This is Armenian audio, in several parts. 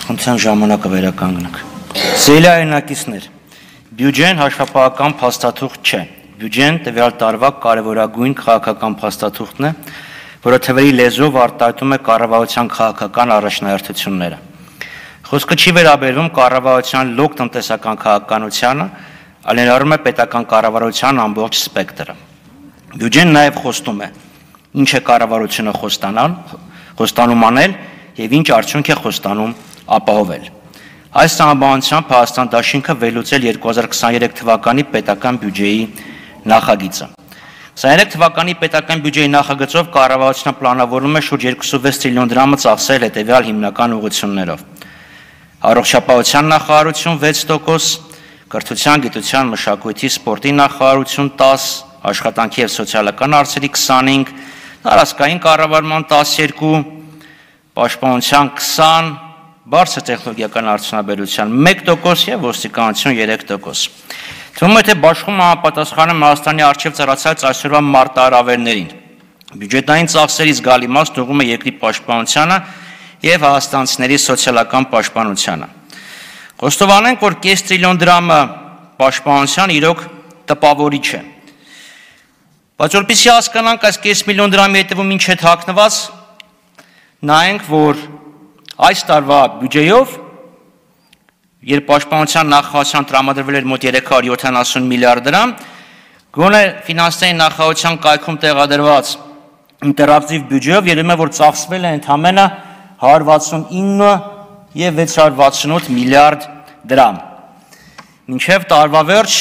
Խնդրեմ ժամանակը վերականգնենք։ Սիրելի հայրենակիցներ, բյուջեն հաշվապահական փաստաթուղթ չէ։ Բյուջեն տվյալ տարվա կարևորագույն քաղաքական փաստաթուղթն է, որը թվերի լեզվով արտահայտում է կառավարության քաղաքական առաջնահերթությունները։ Խոսքը չի վերաբերվում կառավարության լոկ տնտեսական քաղաքականությանը, այլ ներառում է պետական կառավարության ամբողջ սպեկտրը։ Բյուջեն նաև խոստում է, ինչ է կառավարությունը խոստանում անել եւ ինչ արդյունք է խոստանում ապահովել։ Այս համաբանությամբ Հայաստան Դաշինքը վերլուծել 2023 թվականի պետական բյուջեի նախագիծը։ 23 թվականի պետական բյուջեի նախագծով կառավարությունը պլանավորում է շուրջ 26 տրիլիոն դրամը ծախսել հետևյալ հիմնական ուղղություններով. Առողջապահության նախարարություն 6%, կրթության, գիտության, մշակույթի, սպորտի նախարարություն 10%, աշխատանքի եւ սոցիալական հարցերի 25%, տարածքային կառավարման 12%, պաշտպանության 20%, բարձր տեխնոլոգիական արդյունաբերության 1% եւ ոստիկանություն 3%։ Թվում է, թե բաշխումը համապատասխանում Հայաստանի առջև ծառացած այսօրվա մարտահրավերներին։ Բյուջետային ծախսերի զգալի մասն ուղղում է երկրի պաշտպանությանը եւ հայաստանցիների սոցիալական պաշտպանությանը։ Խոստովանենք, որ կես տրիլիոն դրամը պաշտպանության իրոք տպավորիչ է։ Բայց որպեսզի հասկանանք այս կես միլիոն դրամի հետևում ինչ է թաքնված, նայենք, որ այս տարվա բյուջեով, երբ պաշտպանության նախարարության տրամադրվել էր մոտ 370 միլիարդ դրամ, գոնե ֆինանսային նախարարության կայքում տեղադրված ինտերակտիվ բյուջեով երևում է, որ ծախսվել է ընդամենը 169 եւ 668 միլիարդ դրամ։ Մինչև տարվա վերջ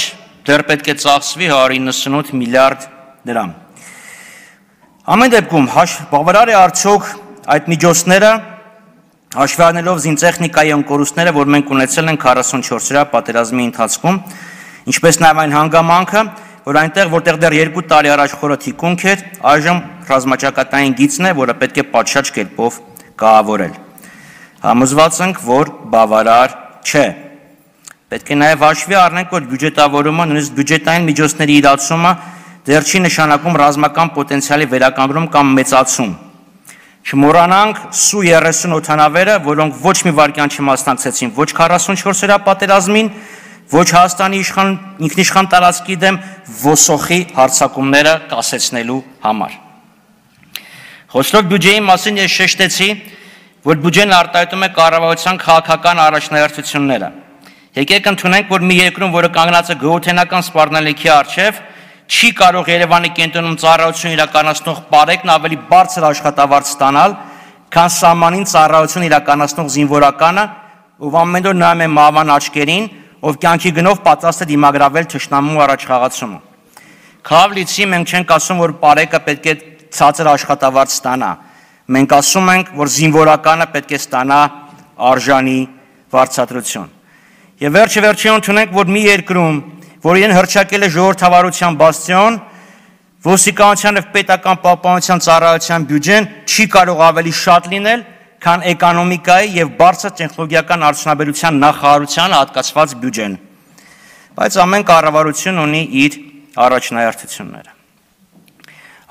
դեռ պետք է ծախսվի 198 միլիարդ դրամ։ Ամեն դեպքում բավարար է արդյոք այդ միջոցները հաշվի առնելով զինտեխնիկայի ընկորուստները, որ մենք ունեցել ենք 44-օրյա պատերազմի ընթացքում, ինչպես նաև այն հանգամանքը, որ այնտեղ, որտեղ դեռ 2 տարի առաջ խորը թիկունք էր, այժմ ռազմաճակատային գիծն է, որը պետք է պատշաճ կերպով կահավորել։ Համոզված ենք, որ բավարար չէ։ Պետք է նաև հաշվի առնենք, որ բյուջետավորումը, նույնիսկ բյուջետային միջոցների իրացումը դեռ չի նշանակում ռազմական պոտենցիալի վերականգնում կամ մեծացում։ Չմոռանանք Սու 30 օդանավերը, որոնք ոչ մի վայրկյան չմասնակցեցին ոչ 44-օրյա պատերազմին, ոչ Հայաստանի ինքնիշխան տարածքի դեմ ոսոխի հարձակումները կասեցնելու համար։ Խոսելով բյուջեի մասին ես շեշտեցի, որ բյուջեն արտահայտում է կառավարության քաղաքական առաջնահերթությունները։ Եկեք ընդունենք, որ մի երկրում, որը կանգնած է գոհութենական սպառնալիքի առջև, չի կարող Երևանի կենտրոնում ծառայություն իրականացնող պարեկն ավելի բարձր աշխատավարձ ստանալ, քան սահմանին ծառայություն իրականացնող զինվորականը, ով ամեն օր նայում է մահվան աչքերին, ով կյանքի գնով պատրաստ է դիմագրավել թշնամու առաջխաղացումը։ Քավլիցի մենք չենք ասում, որ պարեկը պետք է ցածր աշխատավարձ ստանա։ Մենք ասում ենք, որ զինվորականը պետք է ստանա արժանի վարձատրություն։ Եվ վերջի ընդունենք, որ մի երկրում, որ իրեն հռչակել է ժողովրդավարության բաստիոն, ոստիկանության եւ պետական պահպանության ծառայության բյուջեն չի կարող ավելի շատ լինել, քան էկոնոմիկայի եւ բարձր տեխնոլոգիական արդյունաբերության նախարարության հատկացված բյուջեն։ Բայց ամեն կառավարություն ունի իր առաջնահերթությունները։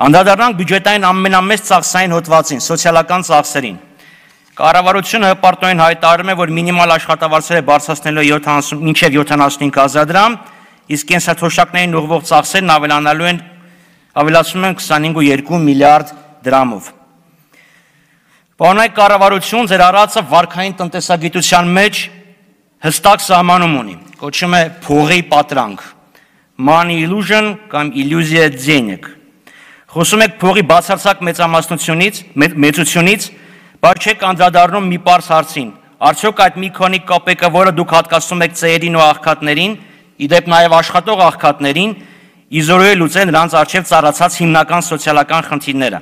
Անդրադառնանք բյուջետային ամենամեծ ծախսային հոդվածին, սոցիալական ծախսերին։ Կառավարությունը հպարտորեն հայտարարում է, որ մինիմալ աշխատավարձերը բարձրացնելու մինչև 75,000 դրամ, իսկ կենսաթոշակներին ուղղվող ծախսերն ավելացնում են 25.2 միլիարդ դրամով։ Պարոնայք կառավարություն ձեր առածը վարքային տնտեսագիտության մեջ հստակ սահմանում ունի, կոչվում է փողի պատրանք, money illusion կամ իլյուզիա денег։ Խոսում եք փողի բացարձակ մեծությունից, բայց չեք անդրադառնում մի պարզ հարցին. արդյոք այդ մի քանի կոպեկը, որը դուք հատկացնում եք ծերերին ու աղքատներին, իդեպ նաև աշխատող աղքատներին, իզորու է լուծել նրանց առջև ծառացած հիմնական սոցիալական խնդիրները։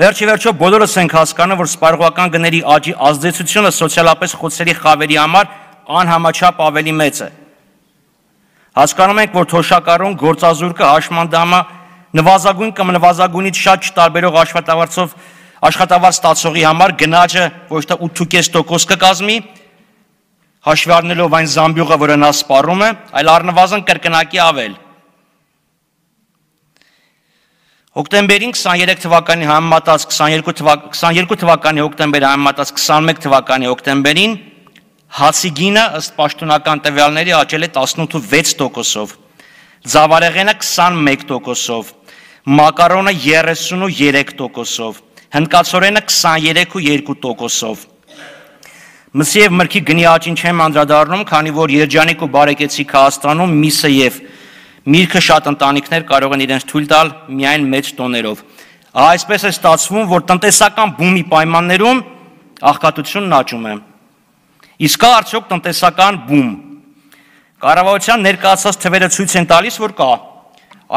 Վերջիվերջո բոլորս ենք հասկանում, որ սպառողական գների աճի ազդեցությունը սոցիալապես խոցելի խավերի համար անհամաչափ ավելի մեծ է։ Հասկանում ենք, որ թոշակառուն գործազուրկը հաշմանդամը նվազագույն կամ նվազագույնից շատ չտարբերող աշխատավարձ ստացողի համար գնաճը ոչ թե 8.5% կկազմի, հաշվի առնելով այն զամբյուղը, որը նա սպառում է, այլ առնվազն կրկնակի ավել։ Հոկտեմբերին 23 թվականի համեմատած 22 թվականի հոկտեմբերի համեմատած 21 թվականի հոկտեմբերին հացի գինը ըստ պաշտոնական տվյալների աճել է 18.6%, ձավարեղենը 21%, մակարոնը 33%, հնդկացորենը 23.2%։ Մսի և մրգի գնի աճին չեմ անդրադառնում, քանի որ երջանիկ ու բարեկեցիկ Հայաստանում միսը և միրգը շատ ընտանիքներ կարող են իրենց թույլ տալ միայն մեծ տոներով։ Այսպես է ստացվում, որ տնտեսական բումի պայմաններում աղքատությունն աճում է։ Իսկ կա արդյոք տնտեսական բում։ Կառավարության ներկայացած թվերը ցույց են տալիս, որ կա։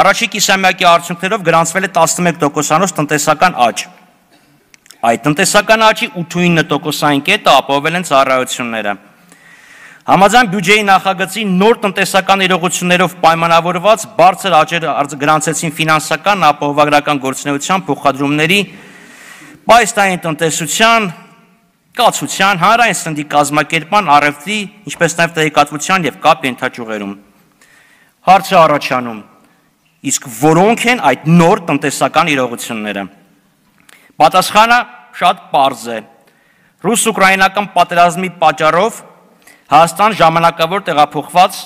Առաջին կիսամյակի արդյունքներով գրանցվել է 11%-անոց տնտեսական աճ։ Այդ տնտեսական աճի 8.9%-ային կետը ապահովել են ծառայությունները։ Համաձայն բյուջեի նախագծի նոր տնտեսական իրողություններով պայմանավորված բարձր աճեր գրանցեցին ֆինանսական, ապահովագրական գործունեության, փոխադրումների, պայստային տնտեսության, կացության, հանրային սննդի կազմակերպման, առևտրի, ինչպես նաև տեղեկատվության և կապ ենթաճյուղերում։ Հարցը առաջանում, իսկ որոնք են այդ նոր տնտեսական իրողությունները։ Պատասխանը շատ պարզ է։ Ռուս-ուկրաինական պատերազմի պատճառով Հայաստան ժամանակավոր տեղափոխված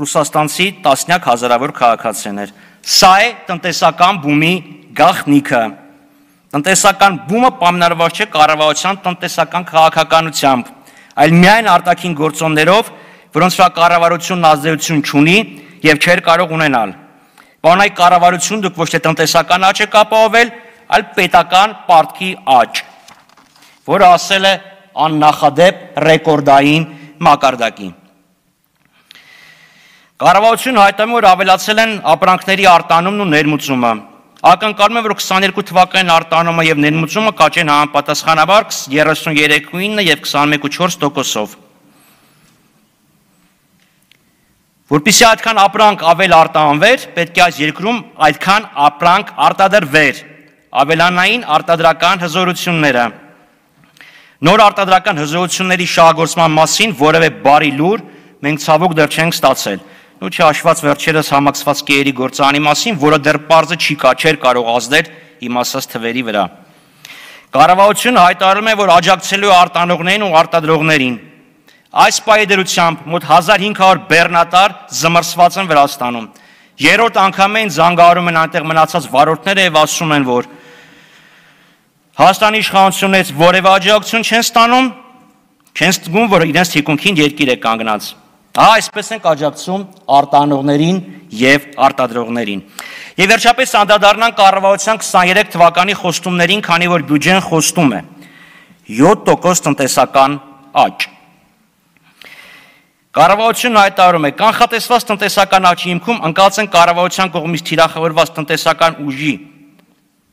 ռուսաստանցի տասնյակ հազարավոր քաղաքացիներ։ Սա է տնտեսական բումի գաղտնիքը։ Տնտեսական բումը պայմանավորված չէ կառավարության տնտեսական քաղաքականությամբ, այլ միայն արտաքին գործոններով, որոնց վրա կառավարությունն ազդեցություն չունի եւ չէր կարող ունենալ։ Բանայ կառավարություն դուք ոչ թե տնտեսական աճ եք ապահովել, այլ պետական պարտքի աճ, որը ասել է աննախադեպ ռեկորդային մակարդակի։ Կառավարությունը հայտարարում է, որ ավելացել են ապրանքների արտանումն ու ներմուծումը։ Ակնկալում է, որ 22 թվականին արտանումը եւ ներմուծումը կաճեն համապատասխանաբար 33.9 եւ 21.4%-ով։ Որպեսզի այդքան ապրանք ավել արտահանվեր, պետք է այս երկրում այդքան ապրանք արտադրվեր, ավելանային արտադրական հզորությունները։ Նոր արտադրական հզորությունների շահագործման մասին որևէ բարի լուր մենք ցավոք դեռ չենք ստացել։ Ու չհաշված վերջերս համակցված կեերի գործարանի մասին, որը դեռ պարզը չէր կարող ազդել իմ ասած թվերի վրա։ Կառավարությունը հայտարարում է, որ աջակցելու է արտանողներին ու արտադրողներին։ Այս պայմանությամբ մոտ 1500 բեռնատար զմռսված են Վրաստանում։ Երրորդ անգամ են զանգահարում են այնտեղ մնացած վարորդները եւ ասում են, որ Հայաստանի իշխանություններից որևէ աջակցություն չեն ստանում, չեն ստգում, որ իրենց թիկունքին երկիր է կանգնած։ Այսպես ենք աջակցում արտանողներին եւ արտադրողներին։ Եվ վերջապես անդրադառնանք կառավարության 23 թվականի խոստումներին, քանի որ բյուջեն խոստում է 7% տնտեսական աճ։ Կառավարությունն հայտարարում է, կանխատեսված տնտեսական աճի հիմքում ընկած են կառավարության կողմից թիրախավորված տնտեսական ուժի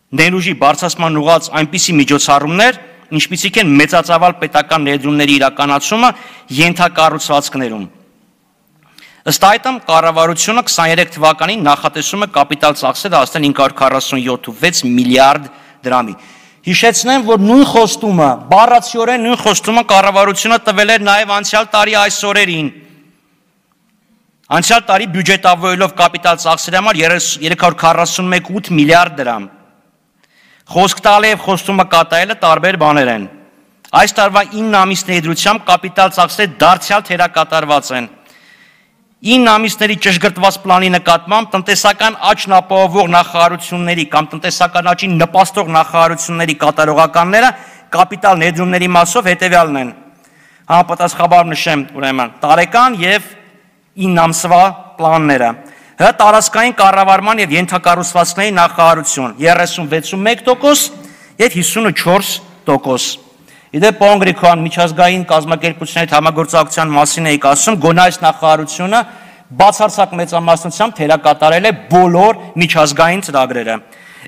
ներուժի բարձրացման ուղղված այնպիսի միջոցառումներ, ինչպիսիք են մեծածավալ պետական ներդրումների իրականացումը ենթակառուցվածքներում։ Ըստ այդմ կառավարությունը 23 թվականին նախատեսում է կապիտալ ծախսերը հասնել 547.6 միլիարդ դրամի։ Հիշեցնեմ, որ նույն խոստումը, բառացիորեն նույն խոստումը կառավարությունը տվել էր նաև անցյալ տարի այս օրերին։ Անցյալ տարի բյուջետավորելով կապիտալ ծախսերի համար 341.8 միլիարդ դրամ։ Խոսք տալը եւ խոստումը կատարելը տարբեր բաներ են։ Այս տարվա 9 ամիսների դրությամբ կապիտալ ծախսերը դարձյալ թերակատարված են։ 9 ամիսների ճշգրտված պլանի նկատմամբ տնտեսական աճն ապահովող նախարարությունների կամ տնտեսական աճին նպաստող նախարարությունների կատարողականները կապիտալ ներդրումների մասով հետևյալն են։ Համապատասխանաբար նշեմ, ուրեմն, տարեկան եւ 9 ամսվա պլանները։ Հ տարածքային կառավարման եւ ենթակառուցվածքների նախարարություն 36.1% եւ 54%։ Իդեպ պարոն Գրիգորյան, միջազգային կազմակերպությունների համագործակցության մասին էիք ասում, գոնե այս նախարարությունը բացարձակ մեծամասնությամբ թերակատարել է բոլոր միջազգային ծրագրերը։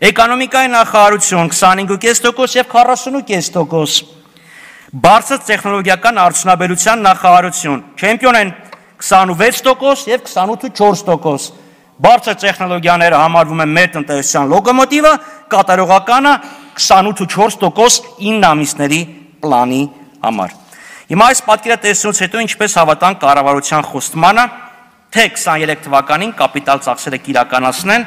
Էկոնոմիկայի նախարարություն 25.5% եւ 40.5%։ Բարձր տեխնոլոգիական արդյունաբերության նախարարություն չեմպիոն են 26% եւ 28.4%։ Բարձր տեխնոլոգիաները համարվում են մեր տնտեսության լոկոմոտիվը, կատարողականը 28.4% 9 ամիսների պլանի համար։ Հիմա այս պատկերը տեսնելուց հետո ինչպես հավատանք կառավարության խոստմանը, թե 23 թվականին կապիտալ ծախսերը կիրականացնեն,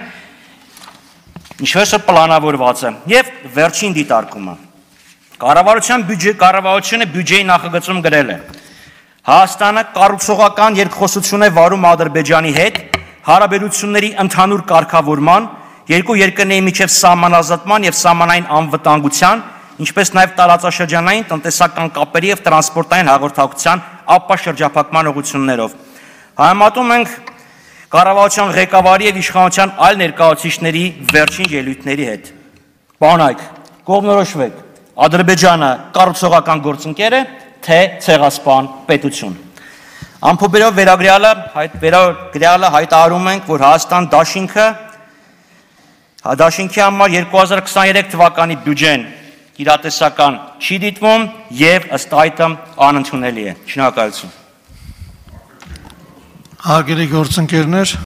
ինչպես որ պլանավորված է, եւ վերջին դիտարկումը։ Կառավարությունը բյուջեի նախագծում գրել է. Հայաստանը կառուցողական երկխոսություն է վարում Ադրբեջանի հետ հարաբերությունների ընդհանուր կարգավորման, երկու երկրների միջև սահմանազատման եւ սահմանային անվտանգության, ինչպես նաեւ տարածաշրջանային տնտեսական կապերի եւ տրանսպորտային հաղորդակցության ապաշրջափակման ուղղություններով։ Համեմատում ենք կառավարության ղեկավարի եւ իշխանության այլ ներկայացուցիչների վերջին ելույթների հետ։ Բանայք, կողմնորոշվեք, Ադրբեջանը կառուցողական գործընկեր է, թե ցեղասպան պետություն։ Ամփոփելով վերագրյալը հայտարարում ենք, որ Հայաստան դաշինքի համար 2023 թվականի բյուջեն իրատեսական չի դիտվում եւ ըստ այդմ անընդունելի է։ Շնորհակալություն։ Հարգելի գործընկերներ,